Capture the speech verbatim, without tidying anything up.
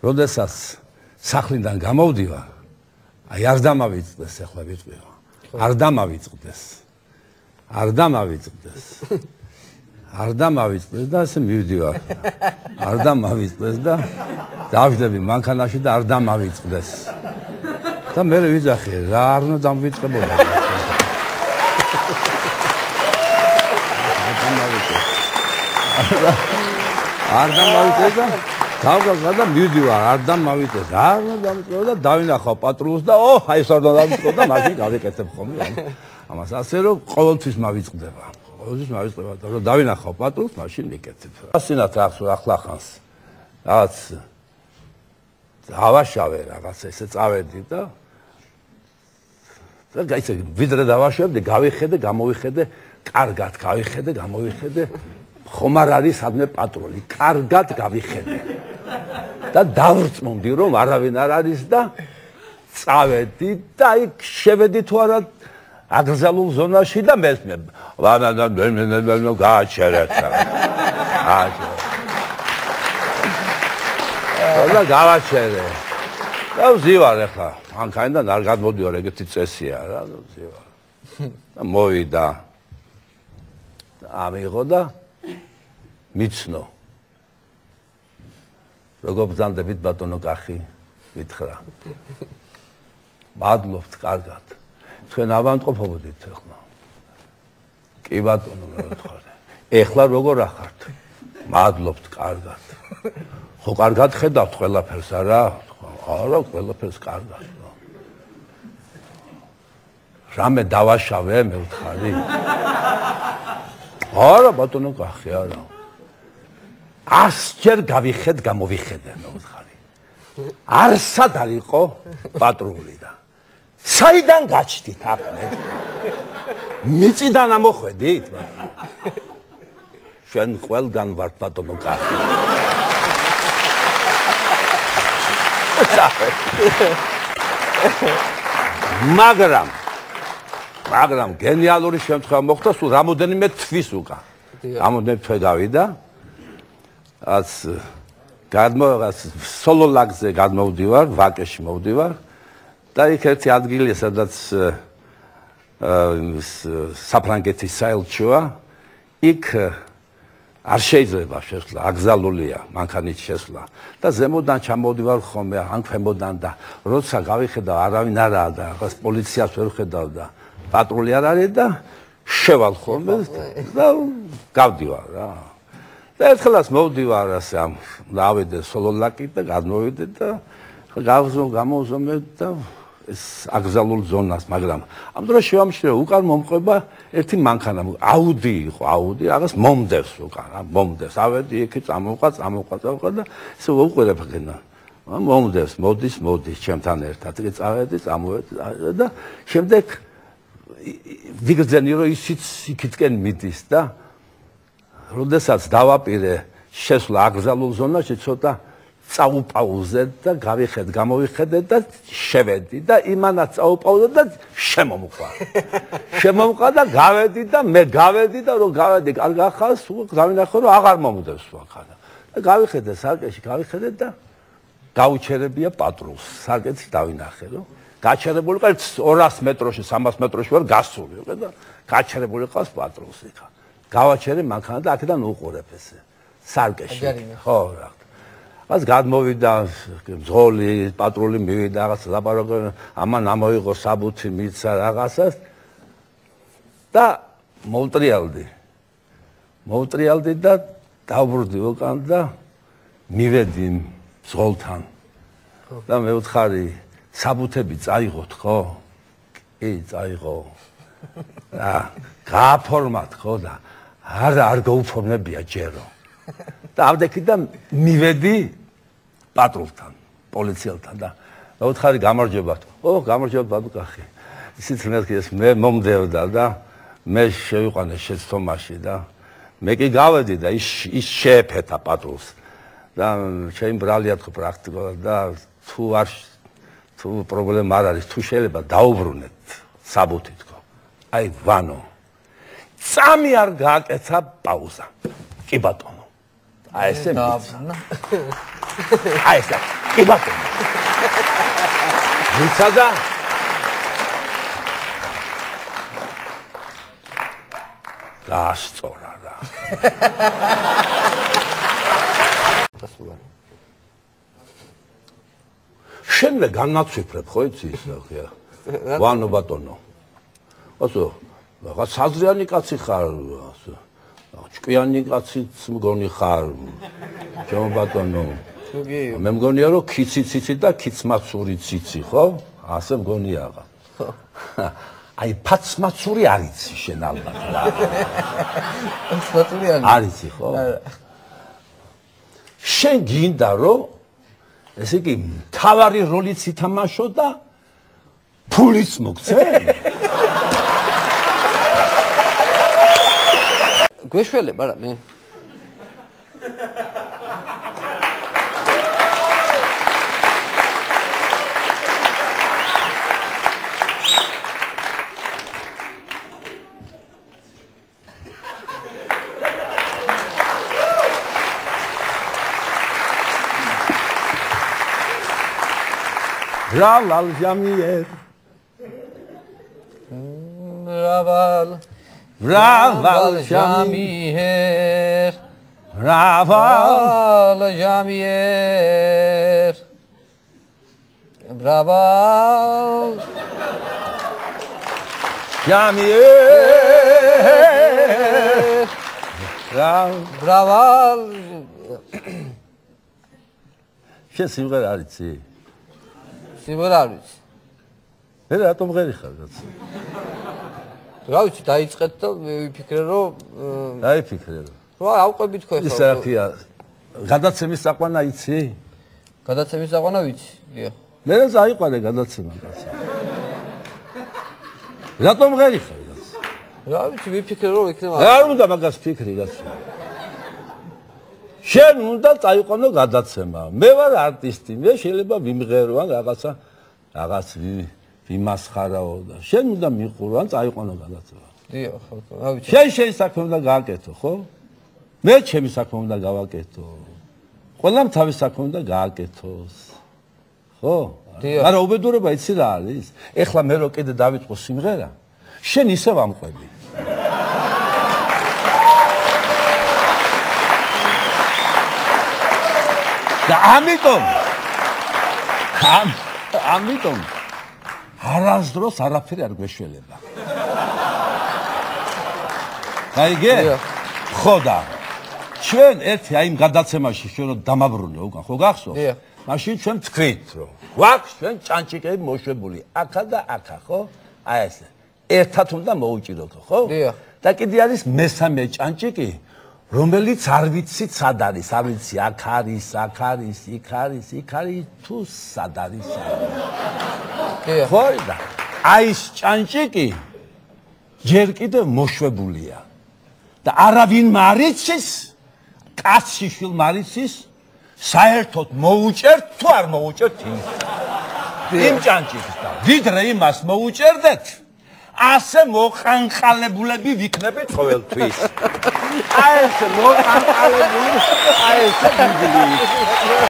როდესაც სახლიდან გამოვდივა, აი არ დამავიწყდეს ახლა ვიტყვიო. არ დამავიწყდეს. არ დამავიწყდეს. არ დამავიწყდეს და ასე მივდივარ. არ დამავიწყდეს და დავждები მანქანაში და არ დამავიწყდეს. და მე ვიძახე, რა არ უნდა დამვიწყებოდა. არ დამავიწყდეს და გავგავდა და მივდივარ, არ დამავიწყდეს. არ უნდა დამვიწყებოდა და დავინახავ პატრულს და ო, აი ეს არ უნდა დამვიწყო და მაშინ გავიკეთებ ხოლმე. ამას ასე რომ ყოველთვის მავიწყდება. ყოველთვის მავიწყდება და რომ დავინახავ პატრულს, მაშინ ვიკეთებ. ასინათ ახს ახლა ხანს. რაღაც დავაშავე რაღაც ესე წავედი და და გაიცე ვიდრე დავაშავებდი, გავიხედე, გამოვიხედე, კარგად გავიხედე, გამოვიხედე, ხომ არ არის სადმე პატრული, კარგად გავიხედე. და დავრწმუნდი რომ არავინ არ არის და წავედი და აი შევედი თუ არა აკრძალულ ზონაში და მესმე ვანა და მე გააჩერეთ. აჩერე. და გავაჩერე. და ვზივარ ახლა. მანქანიდან არ გადმოდივარ, ეგეთი წესია რა, ვზივარ. და მოვიდა. ამიღო და მიცნო. როგორ ბრძანდებით ბატონო კახი? ვითხრა. მადლობთ, კარგად. თქვენ ავანტყოფობოდით ახლა. კი ბატონო, მე ვთქვარ. ეხლა როგორ ახართ? მადლობთ, კარგად. ხო კარგად ხედავთ ყველაფერს არა? არა, ყველაფერს კარგად. რამე დავაშავე, მე ვთხარი. არა, ბატონო კახი, არა. ასჯერ გავიხედ, გამოვიხედე, მე ვთხარი. არსად არ იყო პატრული და საიდან გაჩდით ახლა? მიწიდან ამოხვედით? შენ ყველგან ვარ ბატონო კახი. მაგრამ მაგრამ გენიალური შემთხვევა მოხდა სულ რამოდენიმე თვის უკან. რამოდენიმე თვე გავიდა. ას გადმოღას სოლოლაგზე გადმოვდივარ, ვაკეში მოვდივარ და იქ ერთი ადგილია, სადაც საფრანგეთის საელჩოა, იქ არ შეიძლება შესვლა, აკრძალულია მანქანით შესვლა და ზემოდან ჩამოვდივარ ხოლმე, ან ქვემოდან და როცა გავიხედავ არავინ არაა და რაღაც პოლიციას ვერ ხედავ და პატრული არ არის და შევალ ხოლმე და გავდივარ რა. და ერთხელაც მოვდივარ ასე ამ დავიდე სოლოლაკით და გადმოვიდე და გავზო გამოვზომე და ეს აკრძალულ ზონას, მაგრამ ამ დროს შევამჩნევ უკან მომყვება ერთი მანქანა, აუდი იყო, აუდი, რაღაც მომდევს უკან, რა, მომდევს. ავედი იქით, წამოვყვა, წამოვყვა, წამოვყვა და ესე ვუყურებ ხენა. მომდევს, მოდის, მოდის ჩემთან ერთად. იგი წავედი, წამოვედი და შემდეგ ვიგრძენი რომ ისიც იქითკენ მიდის და როდესაც დავაპირე შესვლა აკრძალულ ზონაში, ცოტა წაუპაუზე და გავიხედ, გამოვიხედე და შევედი და იმანაც წაუპაუზე და შემომყვა. შემომყვა და გავედი და მე გავედი და რომ გავედი, კარგ ახალს, დავინახე რომ აღარ მომდევს მანქანა. და გავიხედე სარკეში, გავიხედე და გაუჩერებია პატრულს. სარკეში დავინახე რომ გაჩერებული ყავს ორას მეტროში, სამას მეტროში ვარ გასული და გაჩერებული ყავს პატრულს იქა. გავაჩერე მანქანა და აქედან უყურებ ესე. სარკეში. ხო რა. ას გადმოვიდა მძღოლი, პატრული მივიდა, რაღაც ლაპარაკი, ამან ამოიღო საბუთი, მიცა რაღაცას და მოვტრიალდი. მოვტრიალდი და დავბრუნდი უკან და მივედი მძღოლთან. და მე ვთხარი, საბუთები წაიღოთ, ხო? კი, წაიღო. და გააფორმათ, ხო და არა, არ გაუფორმებია ჯერო. და ავდექი და მივედი პატრულთან, პოლიციელთან და მოვთხარი გამარჯობათ. ო, გამარჯობათ ბაბუ კახი. ისიც მეთქეს მე მომდევდა და მე შევიყვანე შეცდომაში და მე კი გავედი და ის ის შეეფეთა პატრულს. და ჩემი ბრალია თქო პრაქტიკულად და თუ არ თუ პრობლემა არ არის, თუ შეიძლება დაუბრუნეთ საბუთი თქო. აი ვანო. წამი არ გააკეთა პაუზა. კი ბატონო. აი ესე. აი ესე. კი ბატონო. ვიცადა? დაასწორა რა. შენ მე განაცვიფრებ ხო იცი ის ხა? ვანო ბატონო. ასო, რაღაც საზრიანი კაცი ხარ, ასო. ჭკვიანი კაციც მგონი ხარ. ჩემო ბატონო. მე მგონია რომ ქიცი ციცი და ქიცმაცური ციცი ხო? ასე მგონია რა. აი ფაცმაცური არიცი შენ ალბათ რა. ფაცმაცური არიცი ხო? შენ გინდა რომ ესე იგი თავარი როლიც ითამაშო და ფულიც მოგცე? გვეშველებ არა მე? Raval Jamier. Raval. Raval Jamier. Raval Jamier. Raval Jamier. Raval. შენ სიმღერა არ იცი? სიმღერა არ ვიცი. მე რატომ ღერი ხარ კაცო? რა ვიცი, დაიწყეთ და მე ვიფიქრე რომ დაიფიქრე რომ. რა ავყვებით ხო ეს რა ქვია? გადაცემის საყვანა იცი? გადაცემის საყვანა ვიცი. დიახ. მე რა წაიყვანე გადაცემა კაცო. რატომ ღერი ხარ კაცო? რა ვიცი, ვიფიქრე რომ იქნება. არ უნდა მაგას ფიქრი კაცო. შენ უნდა წაიყვანო გადაცემა. მე ვარ არტისტი, მე შეიძლება ვიმღერო ან რაღაცა რაღაც ვიმასხარაო და შენ უნდა მიყურო ან წაიყვანო გადაცემა. დიახ, ხო, რა ვიცი. შენ შენ საქმე უნდა გააკეთო, ხო? მე ჩემი საქმე უნდა გავაკეთო. ყველამ თავის საქმე უნდა გააკეთოს. ხო? დიახ. მაგრამ უბედურება იცი რა არის? ეხლა მე რო კიდე დავიწყო სიმღერა, შენ ისევ ამყვები. და ამიტომ ამ ამიტომ არასდროს არაფერი არ გვეშველება. გაიგე? ხო და ჩვენ ერთი აი იმ გადაცემაში ჩვენ რომ დამაბრუნე უკან ხო გახსოვს? მაშინ ჩვენ თქვით რომ გვაქვს ჩვენ ჭანჭიკები მოშვებული აქა და აქა ხო? აი ესე ერთად უნდა მოუჭიროთო ხო? და კიდე არის მესამე ჭანჭიკი რომელიც არ ვიცით სად არის, არ ვიცი, აქ არის, აქ არის, იქ არის, იქ არის, თუ სად არის. ხო და აი ეს ჭანჭიკი ჯერ კიდევ მოშვებულია და არავინ მარიცის, კაცი შვილ მარიცის, საერთოდ მოუჭერთ თუ არ მოუჭერთ ის. იმ ჭანჭიკს და ვიდრე იმას მოუჭერდეთ, ასე მოყანყალებულები ვიქნებით ყოველთვის. აი ეს მოყანყალებული, აი ეს ბიბლი.